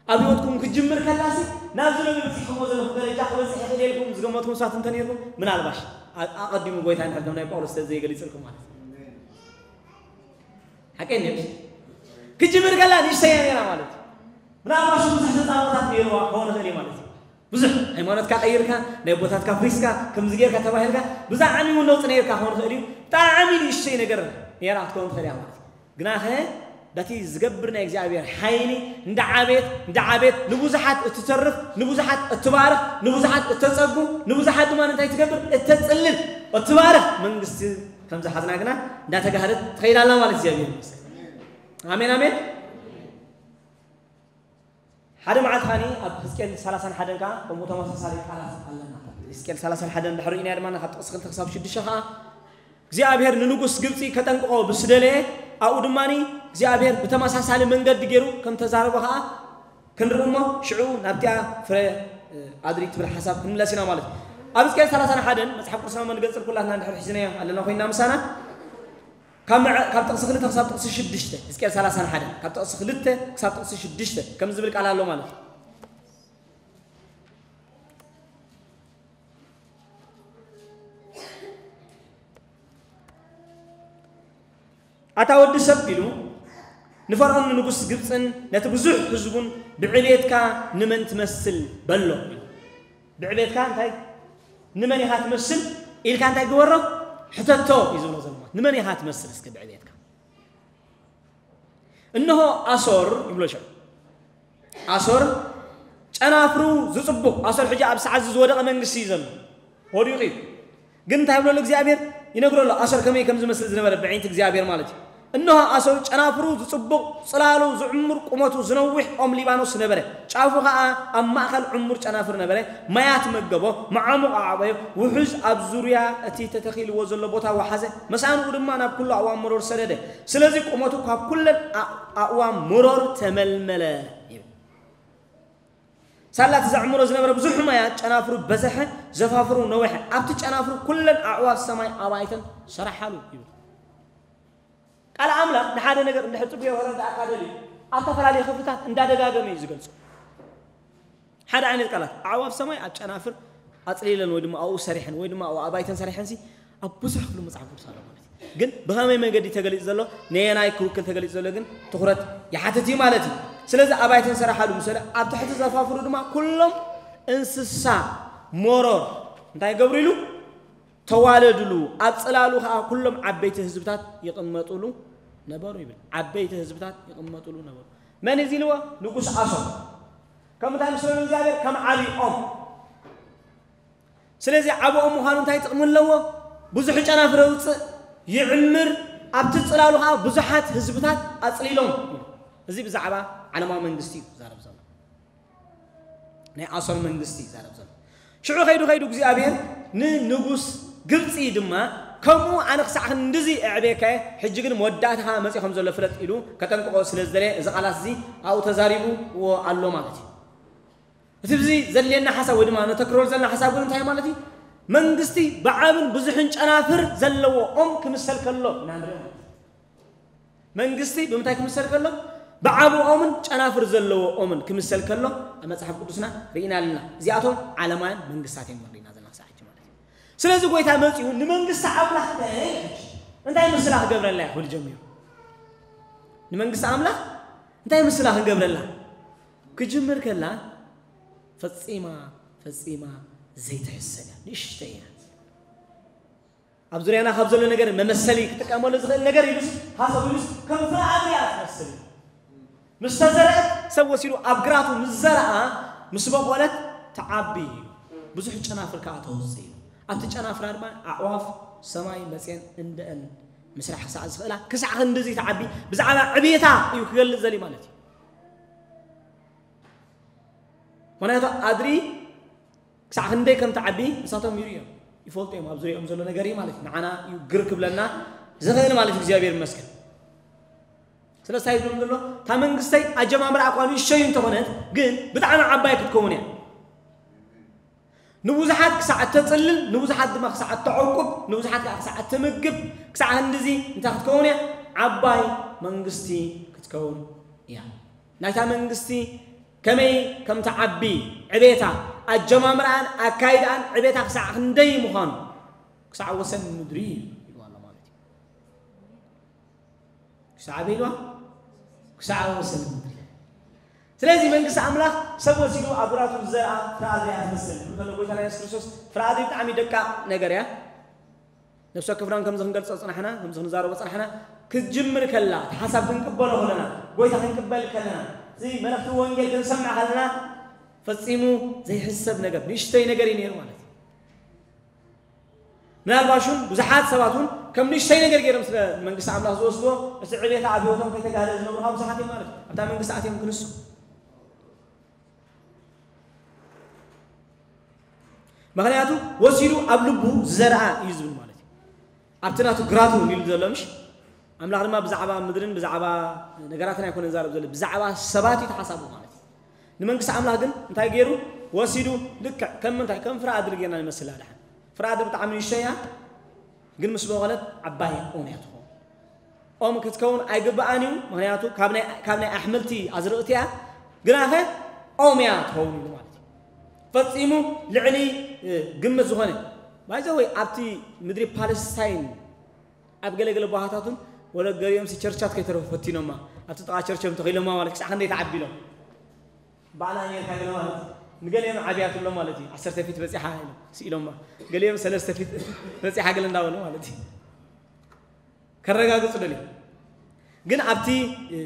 ኣብ ህይወትኩም ክጅምር ከላሲ ናብዚ ሎሚ በፂሕኩሞ ዘለኹም ደረጃ ክበፅሕ ይኽእል ኢልኩም ዝገመትኩም ሰባት እንተነይርኩም ምናልባሽ ኣ- ኣቐዲሙ ጎይታ ንሕር ከም ናይ ጳውሎስ ስለዘይገሊፅልኩም ማለት እዩ። ሓቀይ ነሽ ክጅምር ከላ ንእሽተያ ነይራ ማለት እዩ። ምናልባሽ ብዙሕ ተፃቦታት ነይርዋ ክኸውን ይኽእል እዩ ማለት እዩ። ብዙሕ ሃይማኖትካ ቀይርካ ናይ ቦታትካ ፍሪስካ ከምዚ ጌርካ ተባሂልካ ብዛዕሚ እውን ለውጢ ነይርካ ክኸውን ይኽእል እዩ። ብጣዕሚ ንእሽተይ ነገር ነይራ ክትከውን ትኽእል እያ ማለት እዩ። ግናኸ በቲ ዝገብር ናይ እግዚኣብሔር ሓይሊ እንዳዓበየት እንዳዓበየት ንብዙሓት እትተርፍ ንብዙሓት እትባርኽ ንብዙሓት እተጸጉ ንብዙሓት ድማ እንታይ ትገብር እተጽልል እትባርኽ መንግስቲ ከምዝሓዝና ግና እንዳተጋህደት ትኸይድ ኣላ ማለት እግዚኣብሔር ይመስገን። ኣሜን ኣሜን። ሓደ መዓልቲ ኸኒ ኣብ ሕዝቅኤል ሰላሳን ሓደን ከዓ ከምኡ ተመሳሳሊ ቃላት ኣለና። ሕዝቅኤል ሰላሳን ሓደን ድሕሪ ኢና ድማ ካብ ጥቕሲ ክልተ ክሳብ ሽዱሽተ ከዓ እግዚኣብሔር ንንጉስ ግብፂ ከጠንቅቆ ብስደለየ ኣብኡ ድማ እግዚኣብሔር ብተመሳሳሊ መንገዲ ገይሩ ከም ተዛረቦ ከዓ ክንርኢ እሞ ሽዑ ናብቲኣ ፍረ ኣድሪ ትብል ሓሳብ ክንምለስ ኢና ማለት እዩ። ኣብ ሕዝቅኤል ሰላሳን ሓደን መፅሓፍ ቅዱስና መንገፅል ኩላትና እንድሕር ሒዝናዮ ኣለና ኮይንና ምሳና ካብ መዕ- ካብ ጥቕሲ ክልተ ክሳብ ጥቕሲ ሽዱሽተ ሕዝቅኤል ሰላሳን ሓደን ካብ ጥቕሲ ክልተ ክሳብ ጥቕሲ ሽዱሽተ ከም ዝብል ቃል ኣሎ ማለት እዩ። ኣታ ወዲ ሰብ ኢሉ ንፈርዖን ንንጉስ ግብፅን ነቲ ብዙሕ ህዝቡን ብዕቤትካ ንመን ትመስል በሎ። ብዕቤትካ እንታይ ንመን ኢኻ ትመስል ኢልካ እንታይ ግበሮ ሕተቶ እዩ ዝብሎ ዘሎ። ንመን ኢኻ ትመስል እስከ ብዕቤትካ? እንሆ ኣሶር ይብሎ ሸ ኣሶር ጫ ጨናፍሩ ዝጽቡቕ ኣሰር ሕጂ ኣብ ሰዓት እዚ ዝወደቐ መንግስቲ እዩ ዘሎ። ወዲቑ እዩ። ግን እንታይ ብሎ እግዚኣብሔር ይነግሮ ኣሎ? ኣሰር ከመይ ከም ዝመስል ዝነበረ ብዕይንቲ እግዚኣብሔር ማለት እዩ። እንሆ ኣሰር ጨናፍሩ ዝጽቡቕ፣ ጽላሉ ዝዕሙር፣ ቁመቱ ዝነውሕ ኦም ሊባኖስ ነበረ። ጫፉ ኸኣ ኣብ ማእከል ዕሙር ጨናፍር ነበረ። ማያት መገቦ፣ መዓሙቕ ኣዕበዮ፣ ውሑዝ ኣብ ዙርያ እቲ ተተኺልዎ ዘሎ ቦታ ወሓዘ። መሳንኡ ድማ ናብ ኩሉ ኣእዋም መሮር ሰደደ። ስለዚ ቁመቱ ካብ ኩለን ኣ-፣ ኣእዋም መሮር ተመልመለ ይብል። ሳላ እቲ ዘዕምሮ ዝነበረ ብዙሕ ማያት ጨናፍሩ በዘሐ፣ ዘፋፍሩ ነውሐ። ኣብቲ ጨናፍሩ ኩለን ኣዕዋፍ ሰማይ ኣባይተን ሰራሓሉ ይብል። ቃል ኣምላኽ ንሓደ ነገር እንድሕር ጽቡቕ ክረዳእካ ደልዩ፣ ኣብ ዝተፈላለዩ ክፍልታት እንዳደጋገመ እዩ ዝገልጾ። ሓደ ዓይነት ቃላት፣ ኣዕዋፍ ሰማይ ኣብ ጨናፍር ኣጽሊለን ወይ ድማ ኣብኡ ሰሪሐን ወይ ድማ ኣብኡ ኣባይተን ሰሪሐንሲ ኣብ ብዙሕ ክፍሊ መጽሓፍ ቅዱስ ኣሎ ማለት እዩ። ግን ብኸመይ መገዲ ተገሊጹ ዘሎ፣ ነየናይ ክውክል ተገሊጹ ዘሎ ግን ትኹረት ይሓትት እዩ ማለት እዩ። ስለዚ ኣባይተን ሰራሓሉ ምስ በለ፣ ኣብ ትሕቲ ዘፋፍሩ ድማ ኩሎም እንስሳ መሮር እንታይ ይገብሩ ኢሉ? ተዋለድሉ፣ ኣብ ጽላሉ ኸኣ ኩሎም ዓበይቲ ህዝብታት ይቕመጡሉ ነበሩ ይብል። ዓበይቲ ህዝብታት ይቕመጡሉ ነበሩ። መን እዩ ኢልዎ? ንጉስ ኣሶር። ከም እንታይ ምስ በሉ እግዚኣብሔር? ከም ዓቢ ኦም። ስለዚ ዓቢ ኦም ምዃኑ እንታይ ጥቕሚ ኣለዎ? ብዙሕ ጨናፍር የውጽእ፣ ይዕምር፣ ኣብቲ ጽላሉ ኸኣ ብዙሓት ህዝብታት ኣጽሊሎም። እዚ ብዛዕባ ዓለማዊ መንግስቲ እዩ ዝዛረብ ዘሎ። ናይ ኣሶር መንግስቲ ይዛረብ ዘሎ። ሽዑ ከይዱ ከይዱ እግዚኣብሔር ንንጉስ ግብጺ ድማ፣ ከምኡ ኣነ ክሳዕ ክንድዚ ኣዕብየካየ፣ ሕጂ ግን መወዳእታኻ መጺኡ ከም ዘሎ ፍለጥ ኢሉ ከጠንቅቖ ስለ ዝደለየ፣ እዚ ቃላት እዚ ኣብኡ ተዛሪብዎ ኣሎ ማለት እዩ። እቲ ብዚ ዘድልየና ሓሳብ ወይ ድማ ነተክረሉ ዘለና ሓሳብ ግን እንታይ ማለት እዩ? መንግስቲ ብዓብን ብዙሕን ጨናፍር ዘለዎ ኦም ክምሰል ከሎ ኢና ንርኢ ማለት እዩ። መንግስቲ ብምንታይ ክምሰል ከሎ? ብዓቢ ኦምን ጨናፍር ዘለዎ ኦምን ክምሰል ከሎ ኣብ መጽሓፍ ቅዱስና ርኢና ኣለና። እዚኣቶም ዓለማውያን መንግስታት እዮም ንሪና ዘለና ክሳዕ ሕጂ ማለት እዩ። ስለዚ ጎይታ መጺኡ ንመንግስቲ ኣምላኽ እንታይ እንታይ ምስላ ክገብረላ እዩ ክብል ጀሚሩ። ንመንግስቲ ኣምላኽ እንታይ ምስላ ክንገብረላ ክጅምር ከላ ፈጺማ ፈጺማ ዘይትሕሰብ እያ። ንእሽተይ እያ። ኣብ ዙርያና ካብ ዘሎ ነገር መመሰሊ ክጥቀመሉ ዝኽእል ነገር ኢሉስ ሃሰብ ኢሉስ ከም ፍረ ኣድሪ እያ ትመስል። ምስ ተዘርአት ሰብ ወሲዱ ኣብ ግራቱ ምስ ዘርኣ ምስ በቆለት ትዓቢ እዩ። ብዙሕ ጨናፍር ከኣ ተውፅእ እዩ። ኣብቲ ጨናፍራ ድማ ኣዕዋፍ ሰማይ መፅየን እንደአን ምስራሕ ክሳዕ ዝኽእላ ክሳዕ ክንድዚ ትዓቢ ብዛዕባ ዕብየታ እዩ ክገልፅ ዘሊ ማለት እዩ። ምክንያቱ ኣድሪ ክሳዕ ክንደይ ከም ትዓቢ ንሳቶም ይርእዮም ይፈልጡ እዮም። ኣብ ዙሪኦም ዘሎ ነገር እዩ ማለት እዩ። ንዓና እዩ ግር ክብለና ዝኽእል ማለት እዩ። እግዚኣብሔር ይመስገን። ስለዚ እንታይ ይብሎም ዘሎ? እታ መንግስተይ ኣጀማምራ እኳ ንእሽተይ እንተኾነት ግን ብጣዕሚ ዓባይ ክትከውን እያ። ንብዙሓት ክሳዕ እተጽልል፣ ንብዙሓት ድማ ክሳዕ እተዕቁብ፣ ንብዙሓት ከዓ ክሳዕ እተምግብ፣ ክሳዕ ክንድዚ እንታይ ክትከውን እያ? ዓባይ መንግስቲ ክትከውን እያ። ናይታ መንግስቲ ከመይ ከም ትዓቢ፣ ዕቤታ፣ ኣጀማምራኣን ኣካይዳኣን ዕቤታ ክሳዕ ክንደይ ምዃኑ ክሳዕ ወሰን ምድሪ ኢልዋ ኣሎ ማለት እዩ። ክሳዕ ኣበይ ኢልዋ? ክሳዕ ወሰን ምድሪ። ስለዚ መንግስቲ ኣምላኽ ሰብ ወሲዱ ኣብ ግራቱ ዝዘርኣ ፍረ ኣድሪ እያ ትመስል። እንከሎ ጎይታና የሱስ ክርስቶስ ፍረ ኣድሪ ብጣዕሚ ደቃቕ ነገር እያ። ነፍሲ ወከፍና ከምዚ ክንገልጾ ጽናሕና፣ ከምዚ ክንዛረቦ ጽናሕና፣ ክትጅምር ከላ፣ እቲ ሓሳብ ክንቅበሎ ከለና፣ ጎይታ ክንቅበል ከለና፣ እዚ መልእኽቲ ወንጌል ክንሰምዕ ከለና፣ ፈጺሙ ዘይሕሰብ ነገር፣ ንእሽተይ ነገር እዩ ነይሩ ማለት እዩ። ምናልባሽ እውን ብዙሓት ሰባት እውን ከም ንእሽተይ ነገር ገይሮም ስለ መንግስቲ ኣምላኽ ዝወስድዎ፣ እቲ ዕቤታ ኣብ ህይወቶም ከይተጋህደ ዝነብሩ ከዓ ብዙሓት እዮም ማለት እዩ። ኣብታ መንግስቲ ኣትዮም ክንሱ። ምኽንያቱ ወሲዱ ኣብ ልቡ ዝዘርኣ እዩ ዝብል ማለት እዩ። ኣብቲ ናቱ ግራቱ ኢሉ ዘሎ ምሽ? ኣምላኽ ድማ ብዛዕባ ምድርን ብዛዕባ ነገራትን ኣይኮነን ዝዛረብ ዘሎ፣ ብዛዕባ ሰባት እዩ ተሓሳቡ ማለት እዩ። ንመንግስቲ ኣምላኽ ግን እንታይ ገይሩ? ወሲዱ ልክዕ ከም ምንታይ? ከም ፍረ ኣድሪ ጌርና ንመስላ። ደሓን ፍረ ኣድሪ ብጣዕሚ ንእሽተይ እያ፣ ግን ምስ በቖለት ዓባይ ኦም እያ ትኸውን። ኦም ክትከውን ኣይግብኣን እዩ፣ ምኽንያቱ ካብ ናይ፣ ካብ ናይ ኣሕምልቲ ኣዝርእቲ እያ፣ ግናኸ ኦም እያ ትኸውን ኢሉ ማለት እዩ። ፈጺሙ ልዕሊ፣ እ፣ ግምት ዝኾነ። ባይዘወይ ኣብቲ ምድሪ ፓለስታይን ኣብ ገለ ገለ ቦታታት እውን ወለ ገሊኦምሲ ቸርቻት ከይተረፉ ፈቲኖማ። ኣብቲ ጥቓ ቸርቾም ተኺሎማ ማለት ክሳዕ ክንደይ ትዓቢ ኢሎም። ባዕላ ኣሜሪካ ገለ ማለት ንገሊኦም ዓብያትሎም ማለት እዩ። ዓሰርተ ፊት በጺሓ ኢሎም ስኢሎማ። ገሊኦም ሰለስተ ፊት በጺሓ ገለ እንዳበሉ ማለት እዩ። ከረጋግጹ ደልዮም። ግን ኣብቲ፣ እ፣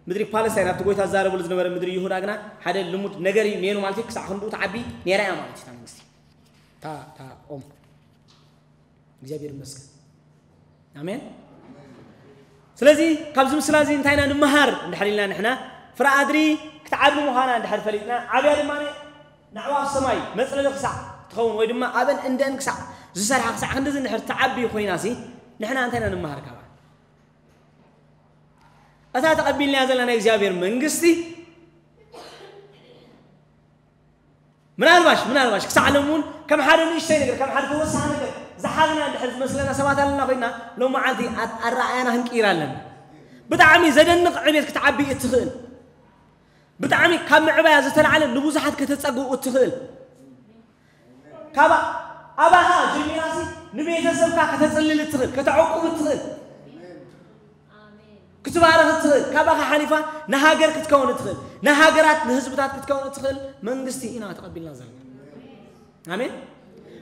ምድሪ ፓለስታይን ኣብቲ ጎይታ ዝዛረበሉ ዝነበረ ምድሪ ይሁዳ ግና ሓደ ልሙድ ነገር እዩ ነይሩ ማለት እዩ። ክሳዕ ክንድኡ ትዓቢ ነይራ እያ ማለት እዩ እታ መንግስቲ፣ እታ እታ ኦም። እግዚኣብሔር ይመስገን። ኣሜን። ስለዚ ካብዚ ምስላ እዚ እንታይ ኢና ንምሃር እንድሕር ኢልና ንሕና ፍረ ኣድሪ ክትዓቢ ምዃና እንድሕር ፈሊጥና፣ ዓብያ ድማ ንዕዋ ኣብ ሰማይ መፅለሊ ክሳዕ ትኸውን ወይ ድማ ኣብን እንደን ክሳዕ ዝሰርሓ ክሳዕ ክንድዚ እንድሕር ትዓቢ ኮይና ሲ ንሕና እንታይ ኢና ንምሃር ካብኣ? እታ ተቐቢልናያ ዘለና ናይ እግዚኣብሔር መንግስቲ ምናልባሽ ምናልባሽ ክሳዕ ሎም እውን ከም ሓደ ንእሽተይ ነገር ከም ሓደ ተወሳኺ ነገር ዝሓዝና እንድሕር ዝመስለና ሰባት ኣለና ኮይና ሎም መዓልቲ ኣት- ኣረኣያና ክንቅይር ኣለና። ብጣዕሚ ዘደንቕ ዕቤት ክትዓቢ እትኽእል ብጣዕሚ ካብ ምዕባያ ዝተላዕለ ንብዙሓት ከተጸግኡ እትኽእል ካብ ኣባኻ ጀሚራሲ ንቤተሰብካ ከተጽልል እትኽእል ከተዕቁብ እትኽእል ክትባረኽ እትኽእል ካባኻ ሓሊፋ ንሃገር ክትከውን እትኽእል ንሃገራት ንህዝብታት ክትከውን እትኽእል መንግስቲ ኢና ተቐቢልና ዘለና። ኣሜን።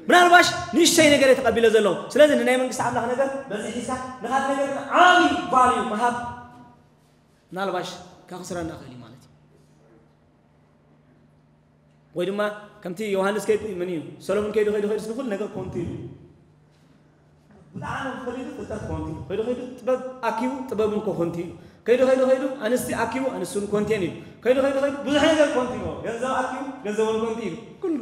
ምናልባሽ ንእሽተይ ነገር እየ ተቐቢለ ዘለኹ። ስለዚ ንናይ መንግስቲ ኣምላኽ ነገር በዚ ሒዝካ ንኻል ነገር ዓብዪ ቫልዩ ምሃብ ምናልባሽ ከኽስረና ይኽእል እዩ ማለት እዩ። ወይ ድማ ከምቲ ዮሃንስ ከይዱ ምን እዩ ሰሎሞን ከይዱ ከይዱ ከይዱ ንኩሉ ነገር ኮንቱ እዩ። ብጣዕሚ ፈሊጡ ፍልጠት ኮንቱ እዩ። ከይዱ ከይዱ ጥበብ ኣኪቡ ጥበብ እንኮ ኮንቱ እዩ። ከይዱ ከይዱ ከይዱ ኣንስቲ ኣኪቡ ኣንስቱን ኮንቴን እዩ። ከይዱ ከይዱ ከይዱ ብዙሕ ነገር ኮንቱ እዩ። ገንዘብ ኣኪቡ ገንዘቡን ኮንቱ እዩ። ኩሉ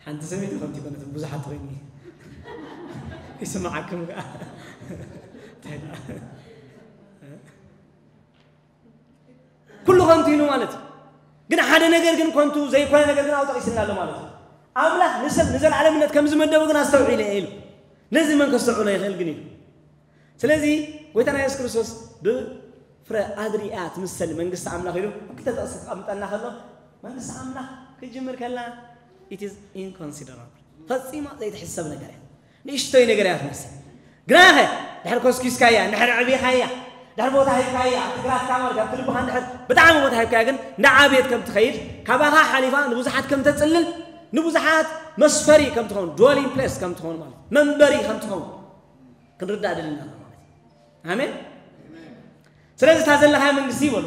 ሓንቲ ሰበይቲ ኮንቱ ይኮነት ብዙሓት ኮይኑ ይስማዓኩም ከዓ እንታይ ደኣ? ኩሉ ከንቱ ኢሉ ማለት እዩ። ግን ሓደ ነገር ግን ከንቱ ዘይኮነ ነገር ግን ኣብኡ ጠቂስልና ኣሎ ማለት እዩ። ኣምላኽ ንሰብ ንዘለዓለምነት ከም ዝመደቦ ግን ኣስተውዒለ እየ ኢሉ። ነዚ መን ከስተውዕሎ ይኽእል ግን ኢሉ። ስለዚ ጎይታና የሱስ ክርስቶስ ብፍረ ኣድሪ እያ ትምሰል መንግስቲ ኣምላኽ ኢሉ ክልተ ጥቕሲ ክቐምጠልና ከሎ መንግስቲ ኣምላኽ ክጅምር ከላ it is inconsiderable ፈጺማ ዘይትሕሰብ ነገር እያ። ንእሽቶይ ነገር እያ ትመስል። ግናኸ ድሕር ኮስኪስካያ፣ ድሕር ዕቢኻያ፣ ድሕር ቦታ ሂብካያ፣ ኣብቲ ግራትካ ማለት ኣብቲ ልብኻ ድሕር ብጣዕሚ ቦታ ሂብካያ ግን እንዳዓብየት ከም ትኸይድ ካባኻ ሓሊፋ ንብዙሓት ከም ተጽልል ንብዙሓት መስፈሪ ከም ትኸውን dwelling place ከም ትኸውን ማለት መንበሪ ከም ትኸውን ክንርዳእ ደልና ማለት እዩ። ኣሜን። ስለዚ እታ ዘለኻያ መንግስቲ ይበሉ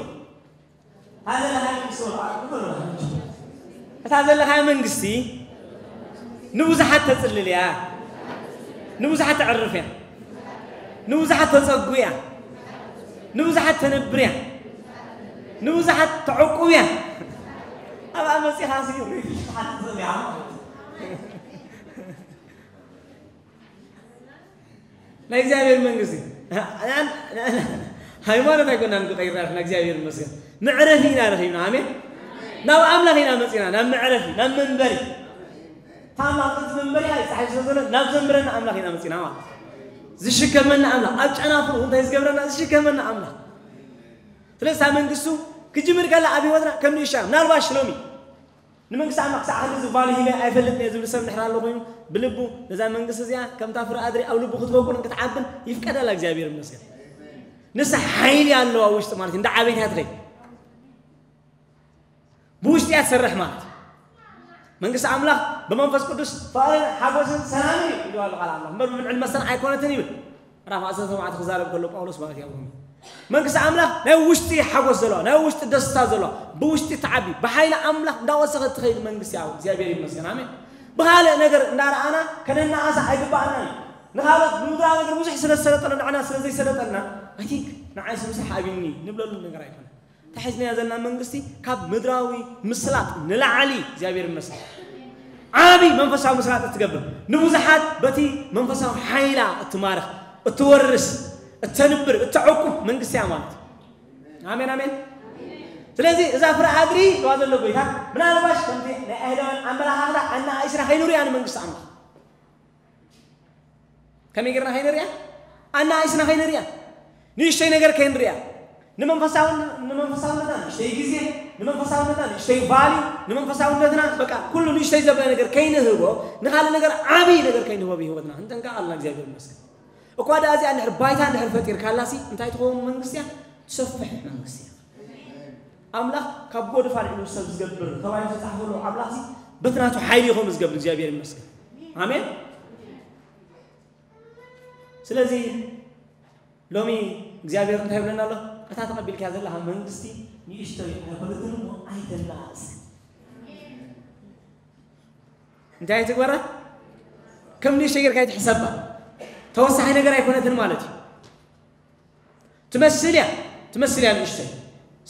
እታ ዘለኻያ መንግስቲ ወልዓ እኮ ነው። እታ ዘለኻያ መንግስቲ ንብዙሓት ተጽልል እያ፣ ንብዙሓት ተዕርፍ እያ፣ ንብዙሓት ተጸጉ እያ፣ ንብዙሓት ተነብር እያ፣ ንብዙሓት ተዕቁብ እያ። ኣብኣ መጺኻ ሲ ሪፊሽ ክትሓትት ትኽእል እያ ማለት እዩ። ናይ እግዚኣብሔር መንግስቲ ሃይማኖት ኣይኮናን ክቀይርና ኢና እግዚኣብሔር ይመስገን መዕረፊ ኢና ረኺብና ኣሜን ናብ ኣምላኽ ኢና መፂና ናብ መዕረፊ ናብ መንበሪ ታማ ቅንት መንበሪ ኣይፀሓይ ስለ ዘሎ ናብ ዘንብረና ኣምላኽ ኢና መፂና ማለት ዝሽከመና ኣምላኽ ኣብ ጨናፍሩ እንታይ ዝገብረና ዝሽከመና ኣምላኽ ስለዚ መንግስቱ ክጅምር ከላ ኣብ ህይወትና ከም ንእሻ ምናልባሽ ሎሚ ንመንግስቲ ኣምላኽ ክሳዕ ክንድዚ ቫልዩ ሂበ ኣይፈልጥን እየ ዝብል ሰብ እንድሕር ኣሎ ኮይኑ ብልቡ ነዛ መንግስቲ እዚኣ ከምታ ፍረ ኣድሪ ኣብ ልቡ ክትበቁልን ክትዓብን ይፍቀደላ እግዚኣብሔር ይመስገን ንሳ ሓይሊ ኣለዋ ውሽጢ ማለት እንዳ ዓበይታ ትኸይ ብውሽጢ እያ ትሰርሕ ማለት መንግስቲ ኣምላኽ ብመንፈስ ቅዱስ ፍቕርን ሓጎስን ሰላምን እዩ ኢሉ ኣሎ ቃል ኣምላኽ እምበር ብብልዕን መስተን ኣይኮነትን ይብል ምዕራፍ ዓሰርተ ኣርባዕተ ክዛረብ ከሎ ጳውሎስ ማለት እዩ ኣብ ሮሜ መንግስቲ ኣምላኽ ናይ ውሽጢ ሓጎስ ዘለዋ ናይ ውሽጢ ደስታ ዘለዋ ብውሽጢ ተዓቢ ብሓይሊ ኣምላኽ እንዳወሰኸት ትኸይድ መንግስቲ ኣብ እግዚኣብሔር ይመስገን ኣሜን ብኻልእ ነገር እንዳረኣና ከነናኣሳ ኣይግባኣና እዩ ንኻልኦት ብምድራዊ ነገር ብዙሕ ስለ ዝሰለጠና ንዓና ስለ ዘይሰለጠና ኣይ ቲንክ ንዓይስ ምሳሕ ኣብኒ ንብለሉ ነገር ኣይኮነ ተሒዝናያ ዘለና መንግስቲ ካብ ምድራዊ ምስላጥ ንላዕሊ እግዚኣብሔር ይመስል ዓብይ መንፈሳዊ ምስላጥ እትገብር ንብዙሓት በቲ መንፈሳዊ ሓይላ እትማርኽ እትወርስ እተንብር እተዕቁብ መንግስቲ እያ ማለት እዩ ኣሜን ኣሜን ስለዚ እዛ ፍረ ኣድሪ ዋ ዘሎ ጎይታ ምናልባሽ ከምቲ ናይ ኣይሁዳውያን ኣመላኻኽታ ኣናኣይስና ከይንሪያ ንመንግስቲ ኣምላኽ ከመይ ጌርና ከይንሪያ ኣናኣይስና ከይንሪያ ንእሽተይ ነገር ከይንሪያ ንመንፈሳውነትና ንእሽተይ ግዜ ንመንፈሳውነትና ንእሽተይ ቫሊ ንመንፈሳውነትና በቃ ኩሉ ንእሽተይ ዘበለ ነገር ከይንህቦ ንካልእ ነገር ዓብይ ነገር ከይንህቦ ብህይወትና ክንጠንቀቕ ኣለና እግዚኣብሔር ይመስገን እኳ ደኣ እዚኣ እንድሕር ባይታ እንድሕር ፈጢርካላሲ እንታይ ትኸውን መንግስቲ እያ ትሰፍሕ መንግስቲ እያ ኣምላኽ ካብ ጎድፍ ኣልዒሉ ሰብ ዝገብር ተባሂሉ ዝተጻሕፈሉ ኣምላኽሲ በቲ ናቱ ሓይሊ ይኾም ዝገብር እግዚኣብሔር ይመስገን ኣሜን ስለዚ ሎሚ እግዚኣብሔር እንታይ ይብለና ኣሎ እታ ተቐቢልካ ዘለኻ መንግስቲ ንእሽቶ ኣይኮነትን እሞ ኣይተናእስ። እንታይ ኣይትግበራ? ከም ንእሽቶ ጌርካ ኣይትሕሰባ። ተወሳኺ ነገር ኣይኮነትን ማለት እዩ። ትመስል እያ፣ ትመስል እያ ንእሽቶይ።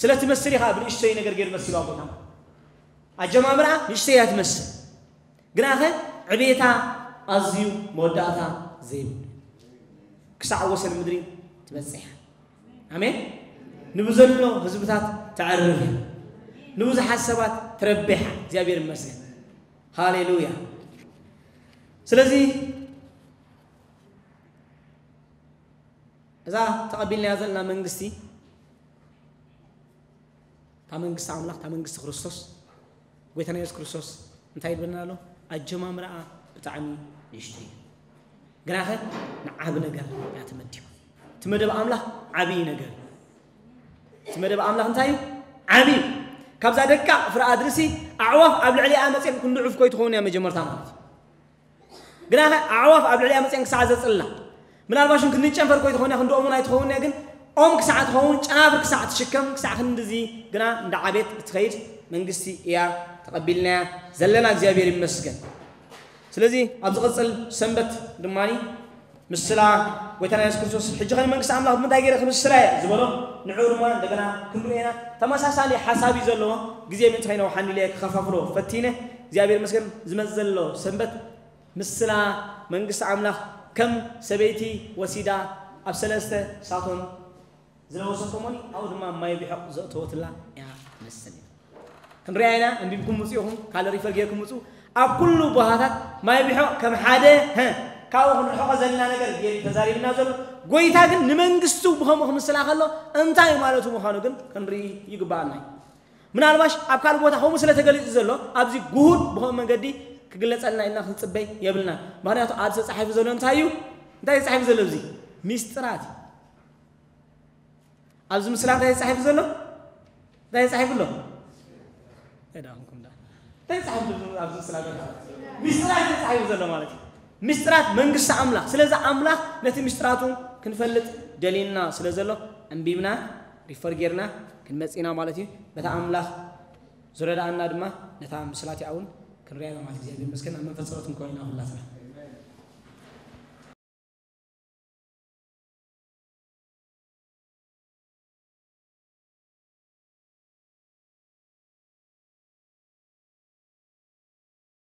ስለ ትመስል እያ ብንእሽቶይ ነገር ገይሩ መሲሉ ኣቦታ። ኣጀማምራ ንእሽቶይ እያ ትመስል። ግናኸ ዕቤታ ኣዝዩ መወዳእታ ዘይብሉ። ክሳዕ ወሰን ምድሪ ትበጽሕ እያ። ኣሜን። ንብዘሎ ህዝብታት ተዕርፍ እያ። ንብዙሓት ሰባት ትረብሕ እያ። እግዚኣብሔር ይመስገን። ሃሌሉያ። ስለዚ እዛ ተቐቢልናያ ዘለና መንግስቲ፣ እታ መንግስቲ ኣምላኽ፣ እታ መንግስቲ ክርስቶስ፣ ጎይታና የሱስ ክርስቶስ እንታይ ይብለና ኣሎ? ኣጀማምራኣ ብጣዕሚ ንእሽቶ እዩ፣ ግናኸ ንዓቢ ነገር እያ ተመዲባ። እቲ መደብ ኣምላኽ ዓብዪ ነገር እዩ። እቲ መደብ ኣምላኽ እንታይ እዩ? ዓብዪ እዩ። ካብዛ ደቃቕ ፍረ ኣድሪ ሲ ኣዕዋፍ ኣብ ልዕሊኣ መፅየን ክንዲ ዕፍ ኮይትኸውን እያ መጀመርታ ማለት እዩ። ግናኸ ኣዕዋፍ ኣብ ልዕሊኣ መፅየን ክሳዕ ዘፅላ፣ ምናልባሽ ክንዲ ጨንፈር ኮይትኸውን እያ፣ ክንዲ ኦም እውን ኣይትኸውን እያ። ግን ኦም ክሳዕ ትኸውን፣ ጨናፍር ክሳዕ ትሽከም፣ ክሳዕ ክንድዚ ግና እንዳ ዓቤት እትኸይድ መንግስቲ እያ ተቐቢልናያ ዘለና። እግዚኣብሔር ይመስገን። ስለዚ ኣብ ዝቕፅል ሰንበት ድማ ምስላ ጎይታና የሱስ ክርስቶስ ሕጂ ኸ መንግስቲ ኣምላኽ ብምንታይ ገይረ ክምስላ እየ ዝበሎ፣ ንዕኡ ድማ እንደገና ክንሪኦ ኢና። ተመሳሳሊ ሓሳብ እዩ ዘለዎ። ግዜ ምእንቲ ከይነውሓኒ ኢለ ክኸፋፍሎ ፈቲነ። እግዚኣብሔር ይመስገን። ዝመጽእ ዘሎ ሰንበት ምስላ መንግስቲ ኣምላኽ ከም ሰበይቲ ወሲዳ ኣብ ሰለስተ ሳቶን ዝለበሰቶሞኒ ኣብኡ ድማ ማይ ቢሖቕ ዘእተወትላ እያ ትመስል። ክንሪኣ ኢና። ኣንቢብኩም ምፁ ኢኹም፣ ካልእ ሪፈር ጌርኩም ምፁ። ኣብ ኩሉ ቦታታት ማይ ቢሖቕ ከም ሓደ፣ ሀ፣ ካብኡ ክንርሕቆ ዘለና ነገር ጌር ተዛሪብና ዘሎ። ጎይታ ግን ንመንግስቱ ብኸምኡ ክምስላ ከሎ እንታይ ማለቱ ምዃኑ ግን ክንርኢ ይግባኣና እዩ። ምናልባሽ ኣብ ካልእ ቦታ ከምኡ ስለ ተገሊጹ ዘሎ ኣብዚ ግሁድ ብኸምኡ መንገዲ ክግለጸልና ኢልና ክንጽበይ የብልና። ምኽንያቱ ኣብዚ ተጻሒፉ ዘሎ እንታይ እዩ? እንታይ ተጻሒፉ ዘሎ ኣብዚ? ሚስጥራት እዩ። ኣብዚ ምስላ እንታይ ተጻሒፉ ዘሎ? እንታይ ተጻሒፉ ኣሎ? እንታይ ደኣ ኮንኩም ደኣ? እንታይ ተጻሒፉ ዘሎ ኣብዚ ምስላ ዘሎ? ሚስጥራት እዩ ተጻሒፉ ዘሎ ማለት እዩ። ሚስጥራት መንግስቲ ኣምላኽ። ስለዚ ኣምላኽ ነቲ ሚስጥራቱ ክንፈልጥ ደልዩና ስለ ዘሎ ኣንቢብና፣ ሪፈር ጌርና ክንመጽእ ኢና ማለት እዩ። በታ ኣምላኽ ዝረድኣና ድማ ነታ ምስላ እቲኣ እውን ክንሪኣ ኢና ማለት እዩ። እግዚኣብሔር ይመስገን። ኣብ መንፈስ ጸሎት ክንከውን ኢና ኩላትና።